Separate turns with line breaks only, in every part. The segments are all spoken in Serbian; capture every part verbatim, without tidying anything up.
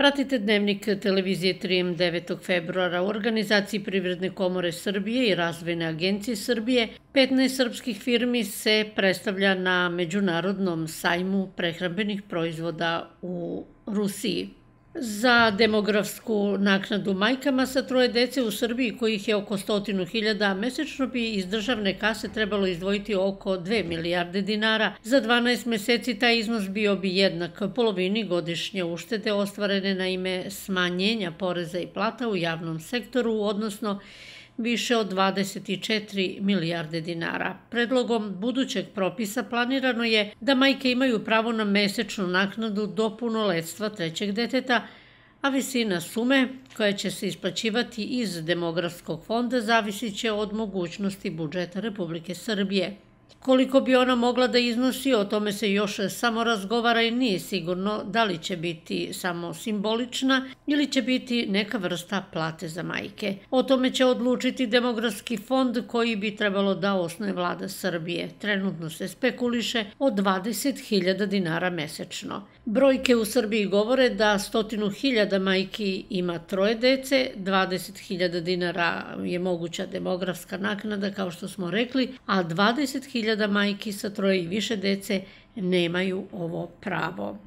Pratite dnevnik televizije tri em devetog februara. U organizaciji Privredne komore Srbije i Razvojne agencije Srbije petnaest srpskih firmi se predstavlja na Međunarodnom sajmu prehrambenih proizvoda u Rusiji. Za demografsku naknadu majkama sa troje dece u Srbiji, kojih je oko stotinu hiljada, mesečno bi iz državne kase trebalo izdvojiti oko dve milijarde dinara. Za dvanaest meseci taj iznos bio bi jednak polovini godišnje uštede ostvarene na ime smanjenja poreza i plata u javnom sektoru, odnosno više od dvadeset četiri milijarde dinara. Predlogom budućeg propisa planirano je da majke imaju pravo na mesečnu naknadu do punoletstva trećeg deteta, a visina sume koja će se isplaćivati iz demografskog fonda zavisit će od mogućnosti budžeta Republike Srbije. Koliko bi ona mogla da iznosi, o tome se još samo razgovara i nije sigurno da li će biti samo simbolična ili će biti neka vrsta plate za majke. O tome će odlučiti demografski fond koji bi trebalo da osnuje vlada Srbije. Trenutno se spekuliše o dvadeset hiljada dinara mesečno. Brojke u Srbiji govore da stotinu hiljada majki ima troje dece, dvadeset hiljada dinara je moguća demografska naknada, kao što smo rekli, a dvadeset hiljada majki sa troje i više dece nemaju ovo pravo.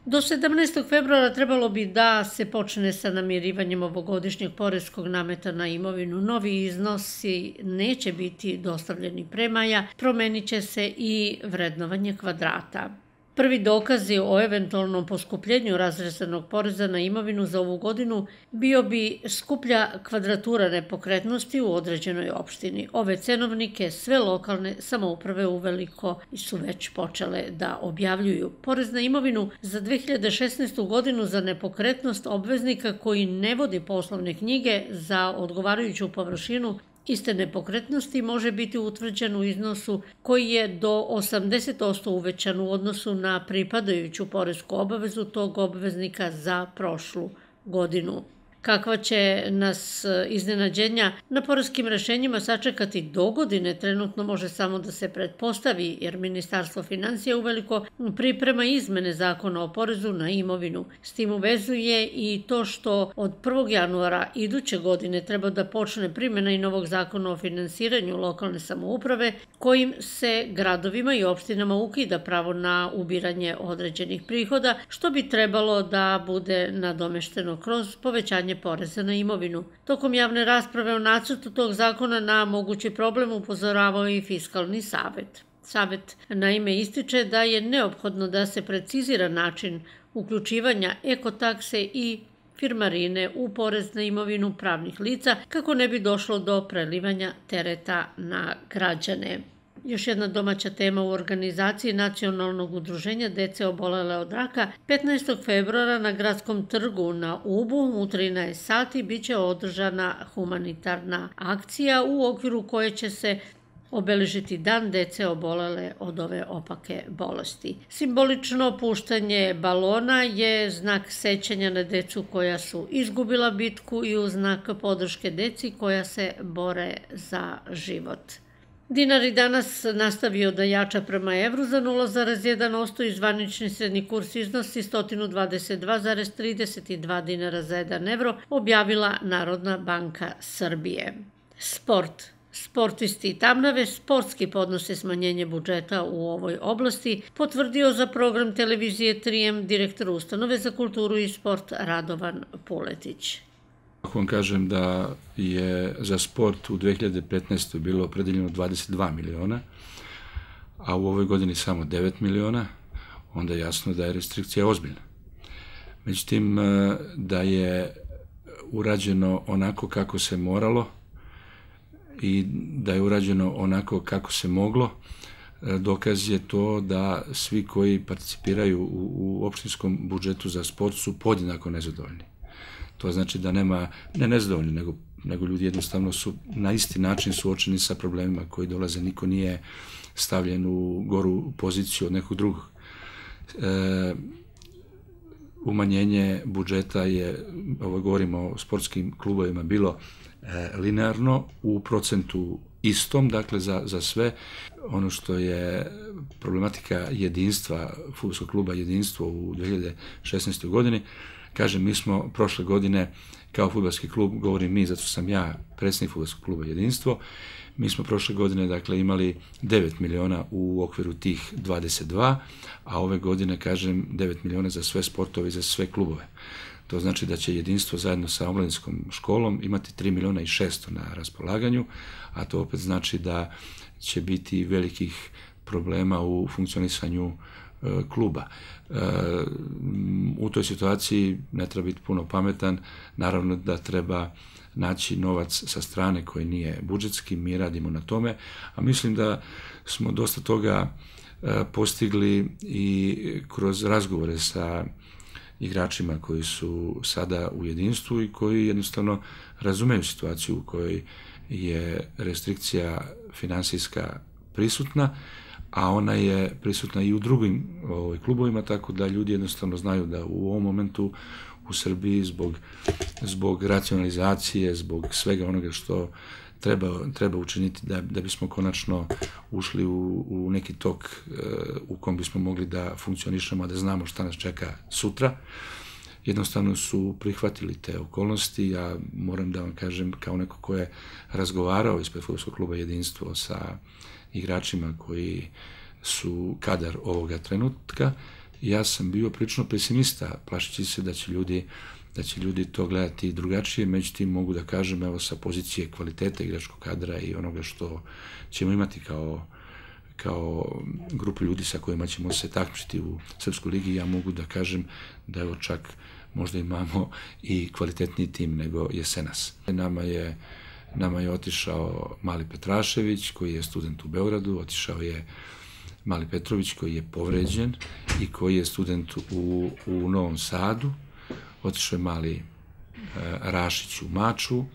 Do sedamnaestog februara trebalo bi da se počne sa namirivanjem ovogodišnjeg poreskog nameta na imovinu. Novi iznosi neće biti dostavljeni pre maja, promenit će se i vrednovanje kvadrata. Prvi dokazi o eventualnom poskupljenju razrezanog poreza na imovinu za ovu godinu bio bi skuplja kvadratura nepokretnosti u određenoj opštini. Ove cenovnike sve lokalne samouprave uveliko su već počele da objavljuju. Porez na imovinu za dve hiljade šesnaestu godinu za nepokretnost obveznika koji ne vodi poslovne knjige za odgovarajuću površinu iste nepokretnosti može biti utvrđen u iznosu koji je do osamdeset posto uvećan u odnosu na pripadajuću poresku obavezu tog obveznika za prošlu godinu. Kakva će nas iznenađenja na poreskim rešenjima sačekati do godine, trenutno može samo da se pretpostavi, jer Ministarstvo finansija uveliko priprema izmene zakona o porezu na imovinu. S tim uvezuje i to što od prvog januara iduće godine treba da počne primjena i novog zakona o finansiranju lokalne samouprave, kojim se gradovima i opštinama ukida pravo na ubiranje određenih prihoda, što bi trebalo da bude nadomešteno kroz povećanje poreza na imovinu. Tokom javne rasprave o nacrtu tog zakona na mogući problem upozoravao i Fiskalni savet. Savet naime ističe da je neophodno da se precizira način uključivanja ekotakse i firmarine u porez na imovinu pravnih lica kako ne bi došlo do prelivanja tereta na građane. Još jedna domaća tema u organizaciji Nacionalnog udruženja dece obolele od raka. petnaestog februara na Gradskom trgu na Ubu u trinaest sati biće održana humanitarna akcija u okviru koje će se obeležiti Dan dece obolele od ove opake bolesti. Simbolično puštanje balona je znak sećanja na decu koja su izgubila bitku i u znak podrške deci koja se bore za život. Dinar i danas nastavio da jača prema evru za nula zarez jedan posto i zvanični srednji kurs iznosi sto dvadeset dva zarez trideset dva dinara za jedan evro, objavila Narodna banka Srbije. Sport. Sportisti Tamnave sportski podnose smanjenje budžeta u ovoj oblasti, potvrdio za program televizije tri em direktor Ustanove za kulturu i sport Radovan Puletić.
Ako vam kažem da je za sport u dve hiljade petnaestoj bilo opredeljeno dvadeset dva miliona, a u ovoj godini samo devet miliona, onda je jasno da je restrikcija ozbiljna. Međutim, da je urađeno onako kako se moralo i da je urađeno onako kako se moglo, dokaz je to da svi koji participiraju u opštinskom budžetu za sport su podjednako nezadovoljni. To znači da nema, ne nezadovoljni, nego, nego ljudi jednostavno su na isti način suočeni sa problemima koji dolaze. Niko nije stavljen u goru poziciju od nekog drugog. E, umanjenje budžeta je, ovo govorimo o sportskim klubovima, bilo e, linearno u procentu istom, dakle za, za sve. Ono što je problematika jedinstva, fudbalskog kluba Jedinstvo u dve hiljade šesnaestoj godini, Kažem, mi smo prošle godine kao fudbalski klub, govorim mi, zato sam ja predsjednik fudbalskog kluba Jedinstvo, mi smo prošle godine dakle imali devet miliona u okviru tih dvadeset dva, a ove godine, kažem, devet miliona za sve sportove i za sve klubove. To znači da će Jedinstvo zajedno sa omladinskom školom imati tri miliona i šesto na raspolaganju, a to opet znači da će biti velikih problema u funkcionisanju e, kluba. E, u toj situaciji ne treba biti puno pametan, naravno da treba naći novac sa strane koji nije budžetski, mi radimo na tome, a mislim da smo dosta toga e, postigli i kroz razgovore sa igračima koji su sada u Jedinstvu i koji jednostavno razumeju situaciju u kojoj je restrikcija finansijska prisutna, a ona je prisutna i u drugim ovaj, klubovima, tako da ljudi jednostavno znaju da u ovom momentu u Srbiji zbog, zbog racionalizacije, zbog svega onoga što treba, treba učiniti da, da bismo konačno ušli u, u neki tok e, u kom bismo mogli da funkcionišemo, da znamo šta nas čeka sutra. Jednostavno su prihvatili te okolnosti. Ja moram da vam kažem, kao neko ko je razgovarao ispred fudbalskog kluba Jedinstvo sa igračima koji su kadar ovoga trenutka, ja sam bio prilično pesimista, plašeći se da će ljudi da će ljudi to gledati drugačije, međutim mogu da kažem, evo, sa pozicije kvaliteta igračkog kadra i onoga što ćemo imati kao, kao grupu ljudi sa kojima ćemo se takmičiti u Srpskoj ligi, ja mogu da kažem da evo čak možda imamo i kvalitetniji tim nego jesenas. Nama je, nama je otišao Mali Petrašević, koji je student u Beogradu, otišao je Mali Petrović, koji je povređen i koji je student u, u Novom Sadu, otišao je Mali e, Rašić u Maču, e,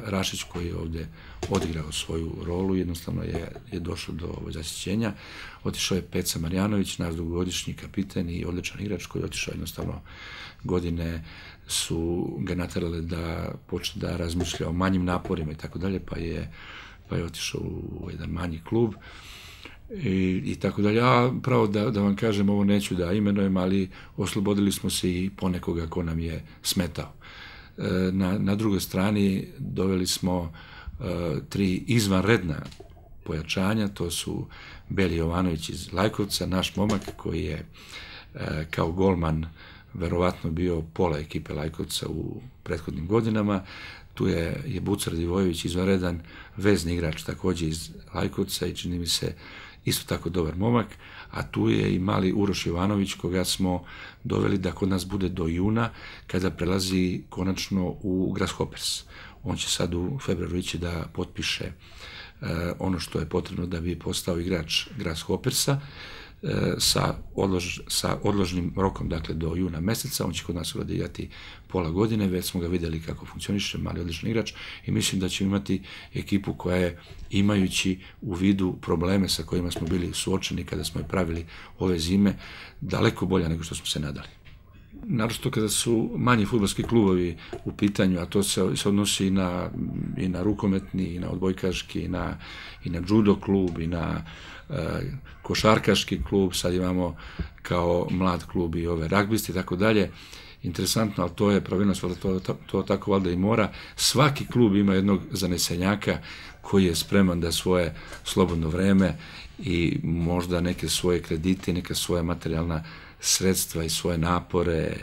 Rašić koji je ovde odigrao svoju rolu, jednostavno je, je došao do zasićenja. Otišao je Peca Marjanović, naš dugogodišnji kapiten i odličan igrač koji je otišao, jednostavno godine su ga naterale da počne da razmišlja o manjim naporima i tako dalje, pa je, pa je otišao u jedan manji klub. I, i tako dalje. A pravo da, da vam kažem, ovo neću da imenujem, ali oslobodili smo se i ponekoga ko nam je smetao. E, na, na drugoj strani doveli smo e, tri izvanredna pojačanja, to su Beli Jovanović iz Lajkovca, naš momak koji je e, kao golman verovatno bio pola ekipe Lajkovca u prethodnim godinama. Tu je, je Bucar Divojević, izvanredan vezni igrač takođe iz Lajkovca i čini mi se isto tako dobar momak, a tu je i mali Uroš Jovanović, koga smo doveli da kod nas bude do juna, kada prelazi konačno u Grasshoppers. On će sad u februaru ići da potpiše uh, ono što je potrebno da bi postao igrač Grasshoppersa, uh, sa, odlož, sa odložnim rokom, dakle do juna meseca. On će kod nas odigrati pola godine, već smo ga videli kako funkcioniše, mali odličan igrač, i mislim da ćemo imati ekipu koja je, imajući u vidu probleme sa kojima smo bili suočeni kada smo je pravili ove zime, daleko bolja nego što smo se nadali. Naročito kada su manji fudbalski klubovi u pitanju, a to se, se odnosi i na, i na rukometni, i na odbojkaški, i na, i na judo klub, i na e, košarkaški klub, sad imamo kao mlad klub i ove ragbisti i tako dalje. Interesantno, ali to je pravilnost, to, to, to tako valjda i mora. Svaki klub ima jednog zanesenjaka koji je spreman da svoje slobodno vreme i možda neke svoje kredite, neka svoja materijalna sredstva i svoje napore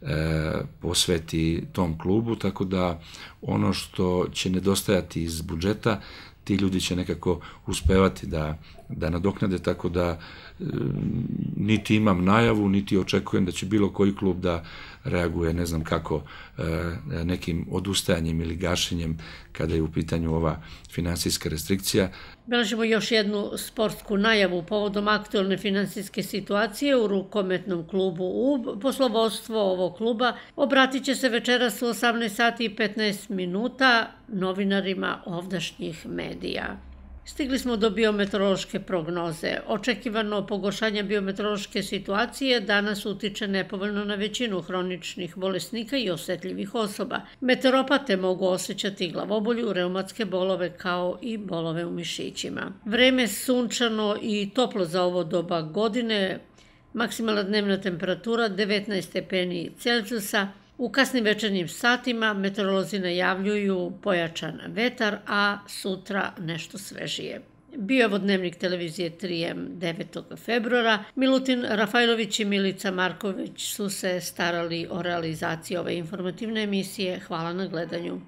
e, posveti tom klubu, tako da ono što će nedostajati iz budžeta, ti ljudi će nekako uspevati da, da nadoknade, tako da e, niti imam najavu, niti očekujem da će bilo koji klub da reaguje, ne znam kako, e, nekim odustajanjem ili gašenjem kada je u pitanju ova finansijska restrikcija.
Beležimo još jednu sportsku najavu povodom aktualne finansijske situacije u rukometnom klubu. U poslovodstvo ovog kluba obratit će se večeras u osamnaest sati i petnaest minuta novinarima ovdašnjih medija. Stigli smo do biometeorološke prognoze. Očekivano pogoršanje biometeorološke situacije danas utiče nepovoljno na većinu hroničnih bolesnika i osetljivih osoba. Meteoropate mogu osjećati glavobolju, reumatske bolove kao i bolove u mišićima. Vreme sunčano i toplo za ovo doba godine, Maksimalna dnevna temperatura devetnaest stepeni Celzijusa. U kasnim večernjim satima meteorolozi najavljuju pojačan vetar, a sutra nešto svežije. Bio je ovo dnevnik televizije tri em devetog februara. Milutin Rafajlović i Milica Marković su se starali o realizaciji ove informativne emisije. Hvala na gledanju.